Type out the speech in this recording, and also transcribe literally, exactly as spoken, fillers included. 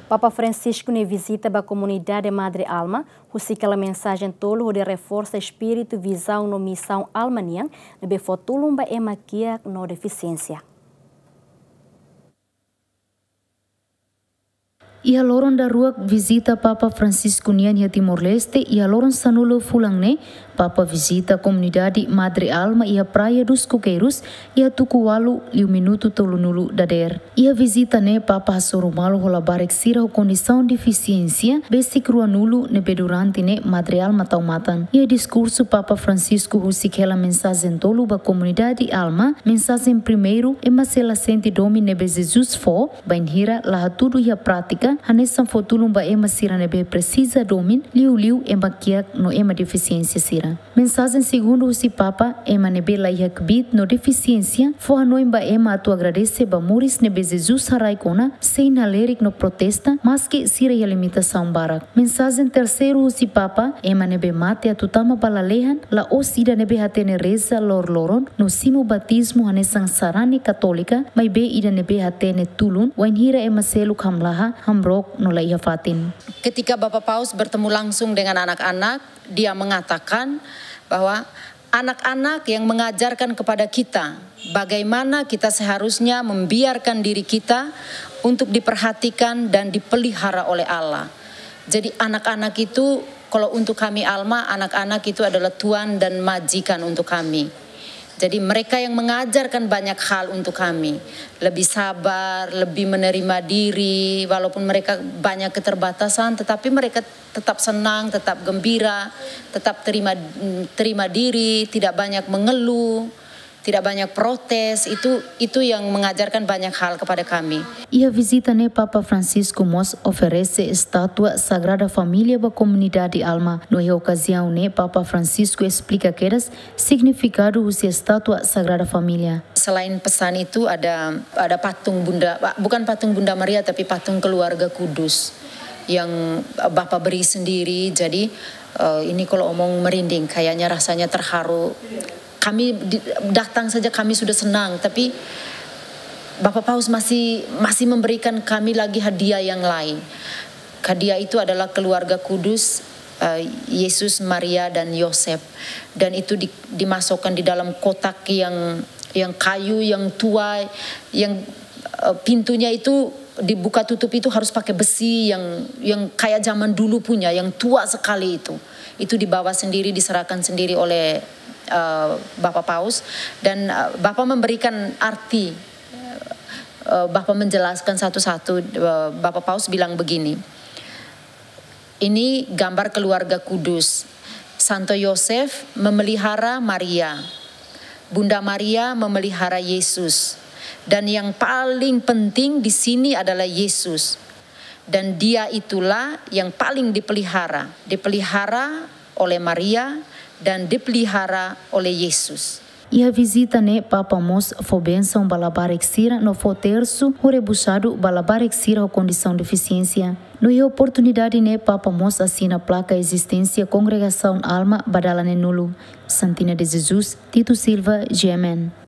Papa Francisco nia vizita ba komunidade Madre Alma husik hela mensajen tolu hodi reforsa espíritu, vizaun no misaun Alma nian ne'ebé fó tulun ba ema kiak no defisiénsia. Iha loron daruak vizita Papa Francisco nian iha Timor-Leste, iha loron sanulu fulan ne'e, Papa vizita komunidade Madre Alma iha Praia dos Coqueiros, iha tuku ualu liu minutu tolunulu dadeer. Iha vizita ne'e Papa hasoru malu ho labarik sira ho kondisaun defisiénsia besik ruanulu ne'ebé durante ne'e Madre Alma tau matan. Iha diskursu Papa Francisco husik hela mensajen tolu ba komunidade Alma, mensajen primeiru, ema sei la sente domin ne'ebé Jesus fó, bainhira la hatudu iha prátika, hanesan fó tulun ba ema sira ne'ebé presiza domin, liuliu ema kiak no ema defisiénsia sira. Mensajen segundu husi Papa, ema ne'ebé la iha kbiit no defisiénsia, fó hanoin ba ema atu agradese ba moris ne'ebé Jesus haraik ona, sein halerik no protesta, maski sira iha limitasaun barak. Mensajen terseiru husi Papa, ema ne'ebé mate atu tama ba lalehan, la'ós ida ne'ebé hatene reza loroloron, no simu batizmu hanesan sarani katólika, maibé ida ne'ebé hatene tulun, wainhira ema seluk hamlaha, hamrook no la iha fatin. Ketika Bapak Paus bertemu langsung dengan anak-anak, dia mengatakan bahwa anak-anak yang mengajarkan kepada kita bagaimana kita seharusnya membiarkan diri kita untuk diperhatikan dan dipelihara oleh Allah. Jadi anak-anak itu, kalau untuk kami Alma, anak-anak itu adalah tuan dan majikan untuk kami. Jadi mereka yang mengajarkan banyak hal untuk kami. Lebih sabar, lebih menerima diri, walaupun mereka banyak keterbatasan, tetapi mereka tetap senang, tetap gembira, tetap terima, terima diri, tidak banyak mengeluh, tidak banyak protes. Itu, itu yang mengajarkan banyak hal kepada kami. Iha vizita ne'e Papa Francisco mós oferese estátua Sagrada Família ba komunidade Alma. No iha okaziaun ne'e Papa Francisco esplika kedas signifikadu husi estátua Sagrada Família. Selain pesan itu, ada, ada patung Bunda, bukan patung Bunda Maria, tapi patung Keluarga Kudus yang Bapa beri sendiri. Jadi, eh, ini kalau omong merinding, kayaknya rasanya terharu. Kami di, datang saja kami sudah senang, tapi Bapak Paus masih, masih memberikan kami lagi hadiah yang lain. Hadiah itu adalah Keluarga Kudus, eh, Yesus, Maria, dan Yosef. Dan itu di, dimasukkan di dalam kotak yang, yang kayu, yang tua, yang, eh, pintunya itu dibuka tutup itu harus pakai besi yang, yang kayak zaman dulu punya, yang tua sekali itu. Itu dibawa sendiri, diserahkan sendiri oleh, eh, Bapak Paus. Dan, eh, Bapak memberikan arti, eh, Bapak menjelaskan satu-satu. Eh, Bapak Paus bilang begini, "Ini gambar keluarga kudus. Santo Yosef memelihara Maria. Bunda Maria memelihara Yesus. Dan yang paling penting di sini adalah Yesus. Dan dia itulah yang paling dipelihara. Dipelihara oleh Maria dan dipelihara oleh Yesus." Iha vizita ne'e Papa mós fó bensaun ba labarik sira no fó tersu ho rebusadu ba labarik sira ho kondisaun defisiénsia. No iha oportunidade ne'e Papa mós asina plaka ezisténsia Kongregasaun Alma ba dala neenulu. Santina de Jesus, Tito Silva, G M N.